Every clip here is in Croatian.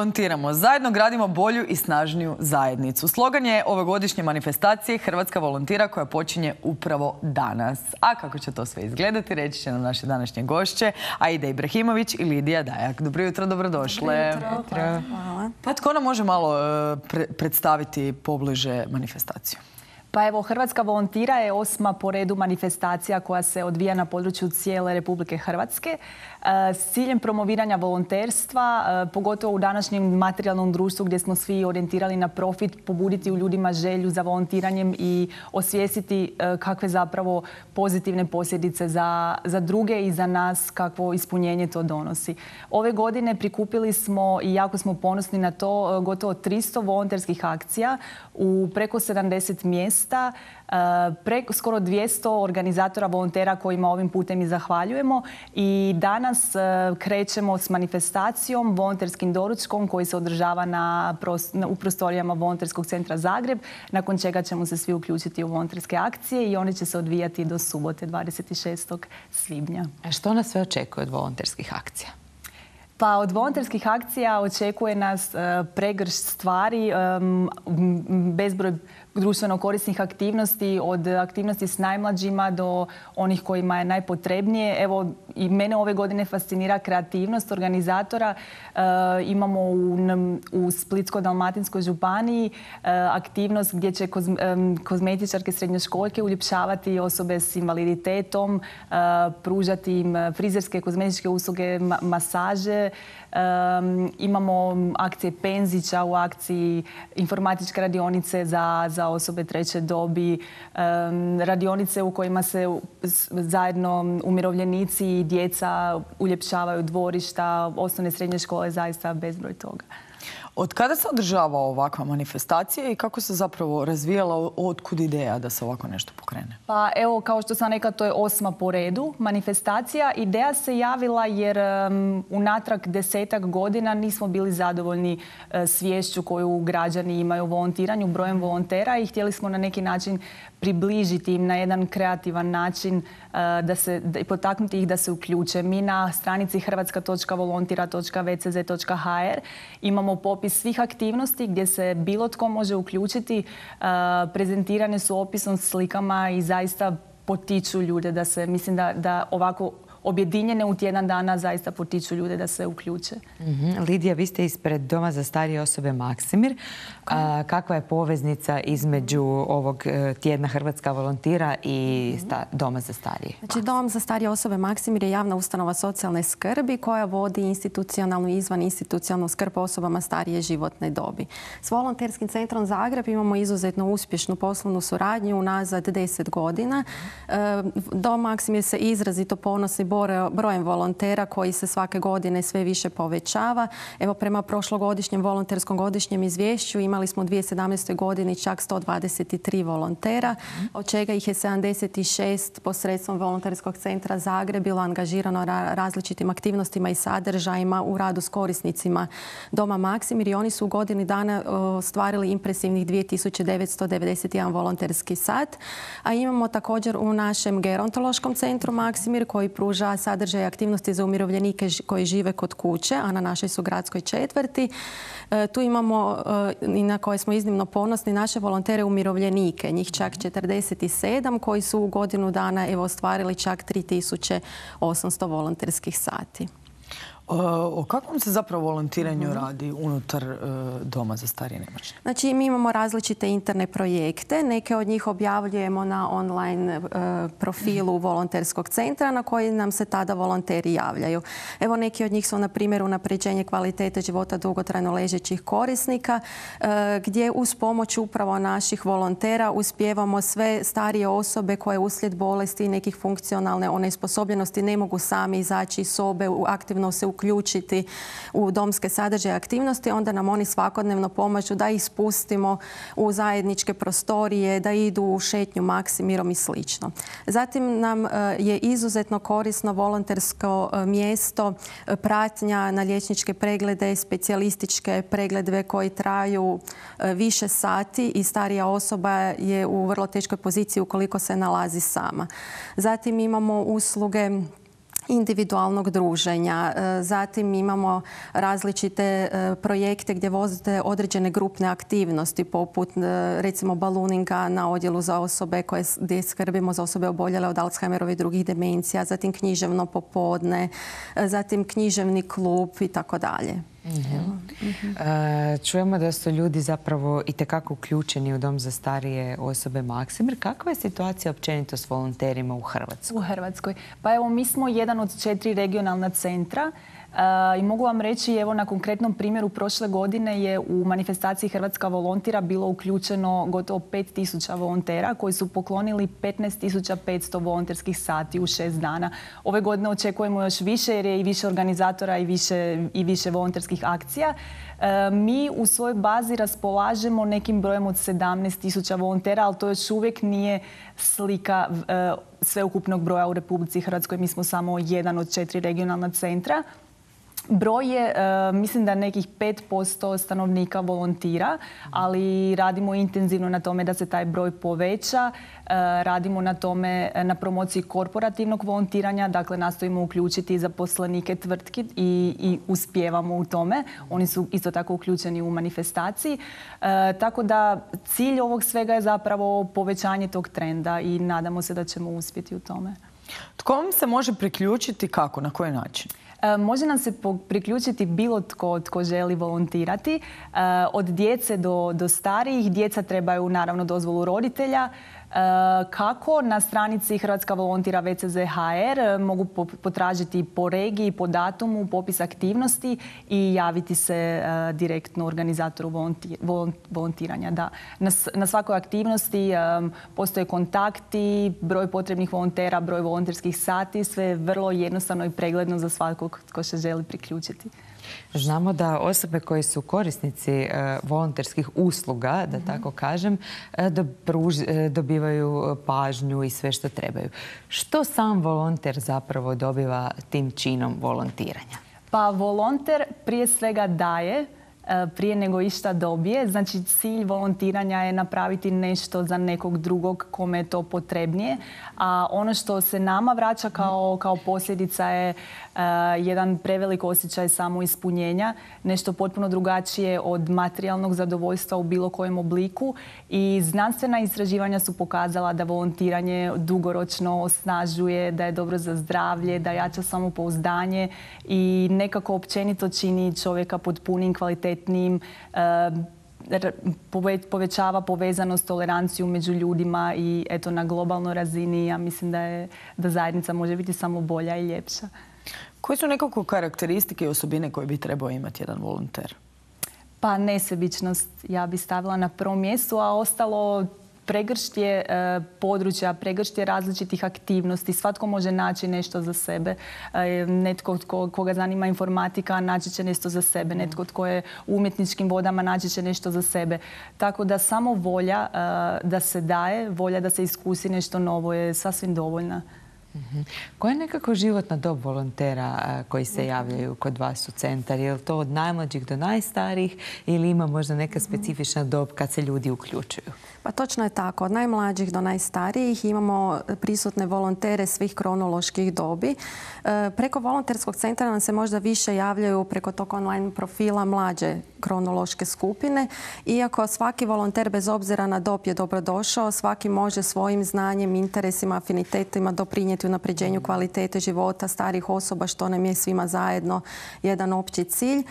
Volontiramo. Zajedno gradimo bolju i snažniju zajednicu. Slogan je ovogodišnje manifestacije Hrvatska volontira koja počinje upravo danas. A kako će to sve izgledati, reći će nam naše današnje gošće Aida Ibrahimović i Lidija Dajak. Dobro jutro, dobrodošle. Dobro jutro. Hvala. Pa tko nam može malo predstaviti pobliže manifestaciju? Pa evo, Hrvatska volontira je 8. po redu manifestacija koja se odvija na području cijele Republike Hrvatske s ciljem promoviranja volonterstva, pogotovo u današnjem materijalnom društvu gdje smo svi orijentirali na profit, pobuditi u ljudima želju za volontiranjem i osvijestiti kakve zapravo pozitivne posljedice za druge i za nas, kakvo ispunjenje to donosi. Ove godine prikupili smo i jako smo ponosni na to gotovo 300 volonterskih akcija u preko 70 mjesta, skoro 200 organizatora volontera kojima ovim putem i zahvaljujemo i danas krećemo s manifestacijom, volonterskim doručkom koji se održava u prostorijama Volonterskog centra Zagreb, nakon čega ćemo se svi uključiti u volonterske akcije i one će se odvijati do subote 26. svibnja. A što nas sve očekuje od volonterskih akcija? Pa od volonterskih akcija očekuje nas pregršt stvari, bezbroj društveno korisnih aktivnosti, od aktivnosti s najmlađima do onih kojima je najpotrebnije. Evo, i mene ove godine fascinira kreativnost organizatora. Imamo u Splitsko-dalmatinskoj županiji aktivnost gdje će kozmetičarke srednjoškoljke uljepšavati osobe s invaliditetom, pružati im frizerske, kozmetičke usluge, masaže. Imamo akcije Penzića u akciji informatičke radionice za osobe treće dobi, radionice u kojima se zajedno umirovljenici i djeca uljepšavaju dvorišta, osnovne i srednje škole, zaista bezbroj toga. Od kada se održava ovakva manifestacija i kako se zapravo razvijala, otkud ideja da se ovako nešto pokrene? Pa evo, kao što sam rekla, to je 8. po redu manifestacija. Ideja se javila jer unatrag 10-ak godina nismo bili zadovoljni sviješću koju građani imaju o volontiranju, brojem volontera i htjeli smo na neki način približiti im na jedan kreativan način, potaknuti ih da se uključe. Mi na stranici hrvatska.volontira.vcz.hr imamo popis svih aktivnosti gdje se bilo tko može uključiti. Prezentirane su opisom, slikama i zaista potiču ljude da se, mislim da ovako objedinjene u tjedan dana zaista potiču ljude da se uključe. Lidija, vi ste ispred Doma za starije osobe Maksimir. Kakva je poveznica između ovog tjedna Hrvatska volontira i Doma za starije? Znači, Dom za starije osobe Maksimir je javna ustanova socijalne skrbi koja vodi institucionalnu i izvaninstitucionalnu skrb osobama starije životne dobi. S Volonterskim centrom Zagreb imamo izuzetno uspješnu poslovnu suradnju unazad 10 godina. Dom Maksimir se izrazito ponosi brojem volontera koji se svake godine sve više povećava. Evo, prema prošlogodišnjem volonterskom godišnjem izvješću imali smo u 2017. godini čak 123 volontera, od čega ih je 76 posredstvom Volonterskog centra Zagreb bilo angažirano različitim aktivnostima i sadržajima u radu s korisnicima Doma Maksimir i oni su u godini dana ostvarili impresivnih 2991 volonterski sat. A imamo također u našem gerontološkom centru Maksimir koji pruža sadržaj aktivnosti za umirovljenike koji žive kod kuće, a na našoj su gradskoj četvrti. Tu imamo i na koje smo iznimno ponosni naše volontere umirovljenike, njih čak 47 koji su u godinu dana ostvarili čak 3800 volonterskih sati. O kakvom se zapravo volontiranju radi unutar Doma za starije i nemoćne? Znači, mi imamo različite interne projekte. Neke od njih objavljujemo na online profilu Volonterskog centra na koji nam se tada volonteri javljaju. Evo, neki od njih su, na primjer, unapređenje kvalitete života dugotrajno ležećih korisnika, gdje uz pomoć upravo naših volontera uspijevamo sve starije osobe koje uslijed bolesti i nekih funkcionalne onesposobljenosti ne mogu sami izaći iz sobe, aktivno se uključiti u domske sadržaje aktivnosti, onda nam oni svakodnevno pomažu da ih spustimo u zajedničke prostorije, da idu u šetnju Maksimirom i sl. Zatim nam je izuzetno korisno volontersko mjesto pratnja na liječničke preglede, specijalističke preglede koji traju više sati i starija osoba je u vrlo teškoj poziciji ukoliko se nalazi sama. Zatim imamo usluge individualnog druženja. Zatim imamo različite projekte gdje vozite određene grupne aktivnosti poput recimo baluninga na odjelu za osobe gdje skrbimo za osobe oboljele od Alzheimerove i drugih demencija, zatim književno popodne, zatim književni klub i tako dalje. Čujemo da su ljudi zapravo itekako uključeni u Dom za starije osobe Maksimir. Kakva je situacija općenito s volonterima u Hrvatskoj? U Hrvatskoj. Pa evo, mi smo jedan od 4 regionalna centra i mogu vam reći, evo, na konkretnom primjeru prošle godine je u manifestaciji Hrvatska volontira bilo uključeno gotovo 5000 volontera koji su poklonili 15.500 volonterskih sati u 6 dana. Ove godine očekujemo još više jer je i više organizatora i više volonterskih akcija. Mi u svojoj bazi raspolažemo nekim brojem od 17.000 volontera, ali to još uvijek nije slika sveukupnog broja u Republici Hrvatskoj. Mi smo samo jedan od 4 regionalna centra. Broj je, mislim da nekih 5% stanovnika volontira, ali radimo intenzivno na tome da se taj broj poveća. Radimo na tome, na promociji korporativnog volontiranja, dakle nastojimo uključiti zaposlenike tvrtki i uspijevamo u tome. Oni su isto tako uključeni u manifestaciji. Tako da cilj ovog svega je zapravo povećanje tog trenda i nadamo se da ćemo uspjeti u tome. Tko vam se može priključiti, kako, na koji način? Može nam se priključiti bilo tko želi volontirati. Od djece do starijih. Djeca trebaju naravno dozvolu roditelja. Kako? Na stranici Hrvatska volontira VCZ.hr mogu potražiti po regiji, po datumu, popis aktivnosti i javiti se direktno organizatoru volontiranja. Da. Na svakoj aktivnosti postoje kontakti, broj potrebnih volontera, broj volonterskih sati, sve je vrlo jednostavno i pregledno za svakog tko se želi priključiti. Znamo da osobe koje su korisnici volonterskih usluga, da tako kažem, dobivaju pažnju i sve što trebaju. Što sam volonter zapravo dobiva tim činom volontiranja? Pa volonter prije svega daje prije nego išta dobije. Znači, cilj volontiranja je napraviti nešto za nekog drugog kome je to potrebnije. A ono što se nama vraća kao posljedica je jedan prevelik osjećaj samoispunjenja, nešto potpuno drugačije od materijalnog zadovoljstva u bilo kojem obliku. I znanstvena istraživanja su pokazala da volontiranje dugoročno osnažuje, da je dobro za zdravlje, da jača samopouzdanje i nekako općenito čini čovjeka potpunim, kvalitetnim, povećava povezanost, toleranciju među ljudima i eto, na globalnoj razini ja mislim da zajednica može biti samo bolja i ljepša. Koje su nekako karakteristike i osobine koje bi trebao imati jedan volonter? Pa nesebičnost ja bi stavila na prvom mjestu, a ostalo pregrštje područja, pregrštje različitih aktivnosti. Svatko može naći nešto za sebe. Netko koga zanima informatika naći će nešto za sebe. Netko tko je u umjetničkim vodama naći će nešto za sebe. Tako da samo volja da se daje, volja da se iskusi nešto novo je sasvim dovoljna. Koja je nekako životna dob volontera koji se javljaju kod vas u centar? Je li to od najmlađih do najstarijih ili ima možda neka specifična dob kad se ljudi uključuju? Pa točno je tako. Od najmlađih do najstarijih imamo prisutne volontere svih kronoloških dobi. Preko volonterskog centra nam se možda više javljaju preko tog online profila mlađe kronološke skupine. Iako svaki volonter bez obzira na dob je dobrodošao, svaki može svojim znanjem, interesima, afinitetima doprinijeti unapređenju kvalitete života starijih osoba, što nam je svima zajedno jedan opći cilj.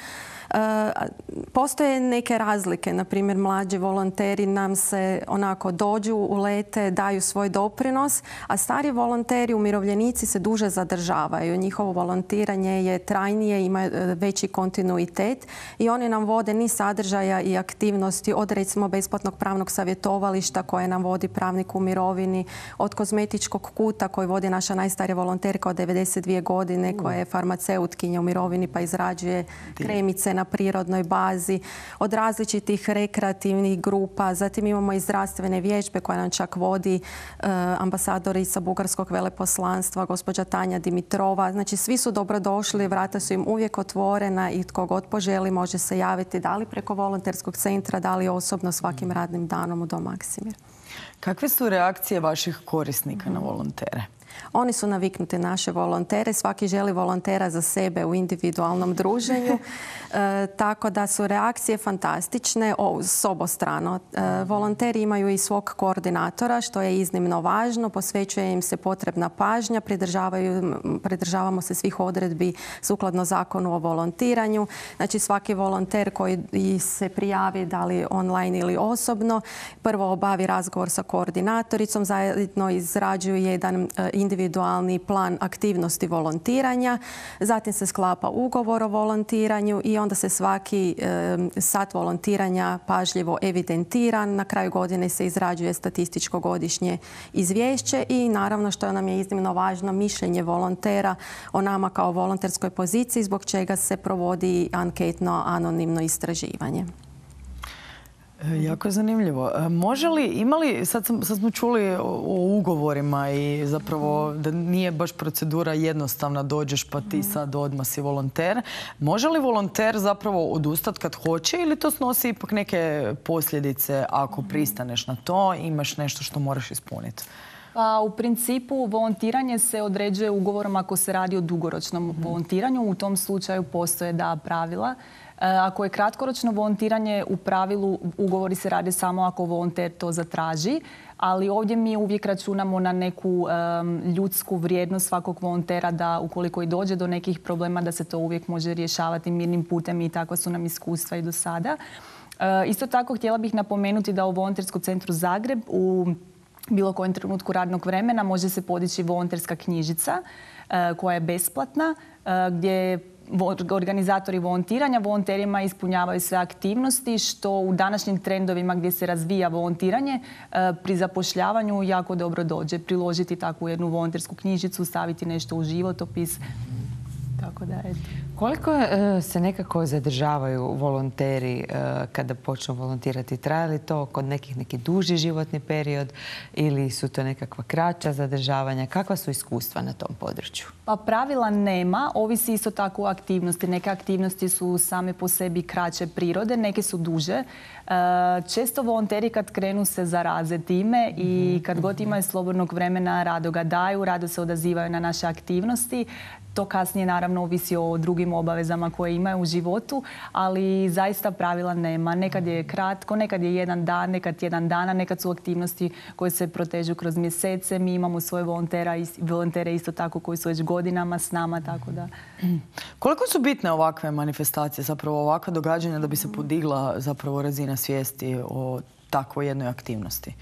Postoje neke razlike, na primjer mlađi volonteri nam se onako dođu, ulete, daju svoj doprinos, a stari volonteri, umirovljenici se duže zadržavaju. Njihovo volontiranje je trajnije, ima veći kontinuitet i oni nam vode niz sadržaja i aktivnosti od recimo besplatnog pravnog savjetovališta koje nam vodi pravnik u mirovini, od kozmetičkog kuta koji vodi naša najstarija volonterka od 92 godine koja je farmaceutkinja u mirovini pa izrađuje kremice na prirodnoj bazi, od različitih rekreativnih grupa. Zatim imamo i zdravstvene vježbe koje nam čak vodi ambasadorica Bugarskog veleposlanstva, gospođa Tanja Dimitrova. Znači, svi su dobrodošli, vrata su im uvijek otvorena i tko god poželi može se javiti da li preko volonterskog centra, da li osobno svakim radnim danom u Dom Maksimir. Kakve su reakcije vaših korisnika na volontere? Oni su naviknuti naše volontere. Svaki želi volontera za sebe u individualnom druženju. Tako da su reakcije fantastične s obostrano. Volonteri imaju i svog koordinatora, što je iznimno važno. Posvećuje im se potrebna pažnja. Pridržavamo se svih odredbi sukladno zakonu o volontiranju. Znači svaki volonter koji se prijavi, da li online ili osobno, prvo obavi razgovor sa koordinatoricom, zajedno izrađuju jedan individualni plan aktivnosti volontiranja, zatim se sklapa ugovor o volontiranju i onda se svaki sat volontiranja pažljivo evidentira. Na kraju godine se izrađuje statističko godišnje izvješće i naravno, što nam je iznimno važno, mišljenje volontera o nama kao volonterskoj poziciji, zbog čega se provodi anketno anonimno istraživanje. Jako je zanimljivo. Može li, imali, sad smo čuli o ugovorima i zapravo da nije baš procedura jednostavna, dođeš pa ti sad odmah si volonter. Može li volonter zapravo odustati kad hoće ili to snosi ipak neke posljedice ako pristaneš na to, imaš nešto što moraš ispuniti? Pa, u principu volontiranje se određuje ugovorom ako se radi o dugoročnom volontiranju. U tom slučaju postoje pravila. Ako je kratkoročno volontiranje, u pravilu ugovori se rade samo ako volonter to zatraži, ali ovdje mi uvijek računamo na neku ljudsku vrijednost svakog volontera, da ukoliko i dođe do nekih problema da se to uvijek može rješavati mirnim putem i takva su nam iskustva i do sada. Isto tako htjela bih napomenuti da u Volonterskom centru Zagreb u bilo kojem trenutku radnog vremena može se podići volonterska knjižica koja je besplatna, gdje organizatori volontiranja volonterima ispunjavaju sve aktivnosti, što u današnjim trendovima gdje se razvija volontiranje pri zapošljavanju jako dobro dođe. Priložiti takvu jednu volontersku knjižicu, staviti nešto u životopis. Tako da, eto. Koliko se nekako zadržavaju volonteri kada počnu volontirati? Traje li to kod neki duži životni period ili su to nekakva kraća zadržavanja? Kakva su iskustva na tom području? Pa pravila nema, ovisi isto tako o aktivnosti. Neke aktivnosti su same po sebi kraće prirode, neke su duže. Često volonteri kad krenu se zaraze time i kad god imaju slobodnog vremena rado ga daju, rado se odazivaju na naše aktivnosti. To kasnije naravno ovisi o drugim obavezama koje imaju u životu, ali zaista pravila nema. Nekad je kratko, nekad je jedan dan, nekad tjedan dana, nekad su aktivnosti koje se protežu kroz mjesece. Mi imamo svoje volontere isto tako koji su već godinama s nama, tako da. Koliko su bitne ovakve manifestacije, zapravo ovakva događanja da bi se podigla zapravo razina svijesti o takvoj jednoj aktivnosti?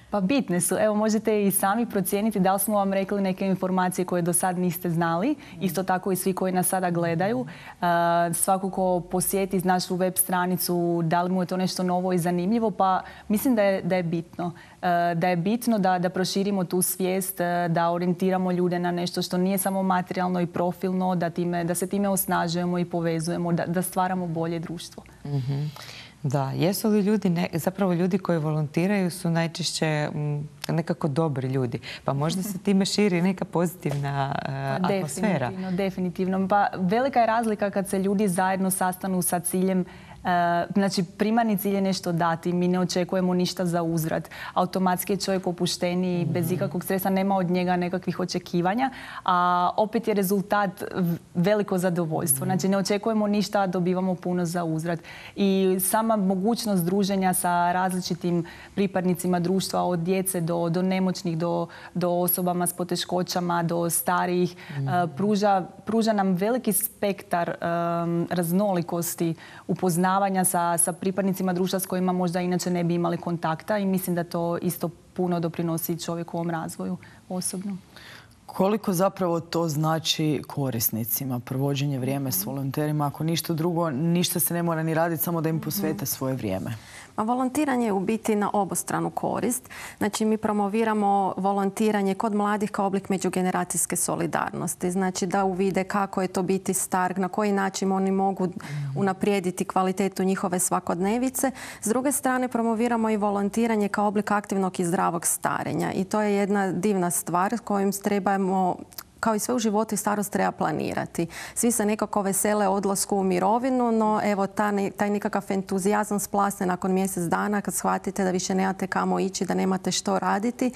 Pa bitne su. Evo, možete i sami procijeniti da li smo vam rekli neke informacije koje do sad niste znali. Isto tako i svi koji nas sada gledaju. Svako ko posjeti našu web stranicu, da li mu je to nešto novo i zanimljivo, pa mislim da je bitno. Da je bitno da proširimo tu svijest, da orijentiramo ljude na nešto što nije samo materijalno i profilno, da se time osnažujemo i povezujemo, da stvaramo bolje društvo. Da, jesu li ljudi, zapravo ljudi koji volontiraju su najčešće nekako dobri ljudi, pa možda se time širi neka pozitivna atmosfera. Definitivno. Pa velika je razlika kad se ljudi zajedno sastanu sa ciljem. Znači, primarni cilj je nešto dati. Mi ne očekujemo ništa za uzvrat. Automatski je čovjek opušteniji, bez ikakvog stresa, nema od njega nekakvih očekivanja, a opet je rezultat veliko zadovoljstvo. Znači, ne očekujemo ništa, a dobivamo puno za uzvrat. I sama mogućnost druženja sa različitim pripadnicima društva, od djece do nemoćnih, do osobama s poteškoćama, do starijih, pruža nam veliki spektar raznolikosti, upoznavanja sa pripadnicima društva s kojima možda inače ne bi imali kontakta, i mislim da to isto puno doprinosi čovjekovom razvoju osobno. Koliko zapravo to znači korisnicima, provođenje vrijeme s volonterima? Ako ništa drugo, ništa se ne mora ni raditi, samo da im posvete svoje vrijeme. Volontiranje je u biti na obostranu korist. Znači, mi promoviramo volontiranje kod mladih kao oblik međugeneracijske solidarnosti. Znači, da uvide kako je to biti star, na koji način oni mogu unaprijediti kvalitetu njihove svakodnevice. S druge strane, promoviramo i volontiranje kao oblik aktivnog i zdravog starenja. I to je jedna divna stvar kojim trebamo kao i sve u životu i starost treba planirati. Svi se nekako vesele odlasku u mirovinu, no evo taj nekakav entuzijazam splasne nakon mjesec dana kad shvatite da više nemate kamo ići, da nemate što raditi.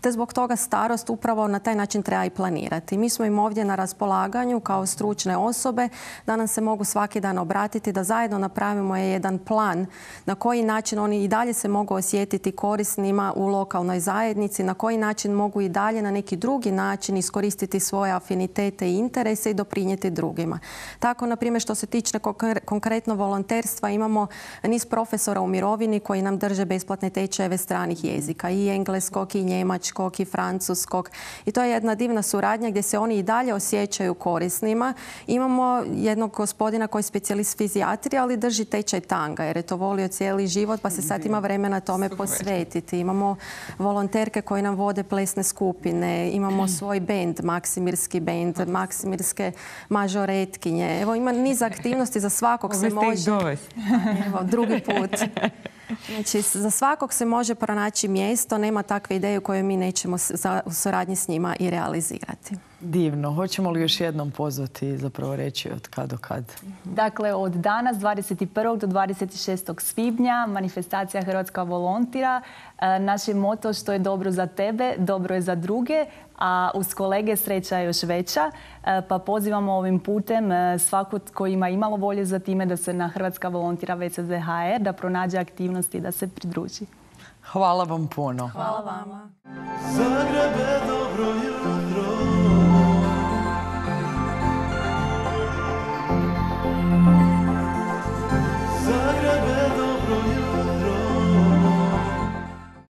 Te zbog toga starost upravo na taj način treba i planirati. Mi smo im ovdje na raspolaganju kao stručne osobe da nam se mogu svaki dan obratiti, da zajedno napravimo jedan plan na koji način oni i dalje se mogu osjetiti korisnima u lokalnoj zajednici, na koji način mogu i dalje na neki drugi način iskoristiti svoje afinitete i interese i doprinijeti drugima. Tako, na primjer, što se tiče konkretno volonterstva, imamo niz profesora u mirovini koji nam drže besplatne tečajeve stranih jezika, i engleskog, i njemačkog, i francuskog. I to je jedna divna suradnja gdje se oni i dalje osjećaju korisnima. Imamo jednog gospodina koji je specijalist fizijatrije, ali drži tečaj tanga jer je to volio cijeli život, pa se sad ima vremena tome posvetiti. Imamo volonterke koji nam vode plesne skupine, imamo svoj bend, Maksimirski bend, Maksimirske mažoretkinje. Evo, ima niz aktivnosti, za svakog se može... Evo, drugi put. Znači, za svakog se može pronaći mjesto, nema takve ideje koje mi nećemo u suradnji s njima i realizirati. Divno. Hoćemo li još jednom pozvati, zapravo reći od kad do kad? Dakle, od danas 21. do 26. svibnja manifestacija Hrvatska volontira. Naš je moto što je dobro za tebe, dobro je za druge, a uz kolege sreća je još veća. Pa pozivamo ovim putem svako ko ima imalo volje za time da se na Hrvatska volontira VCZ.hr, da pronađe aktivnosti i da se pridruži. Hvala vam puno. Hvala vama.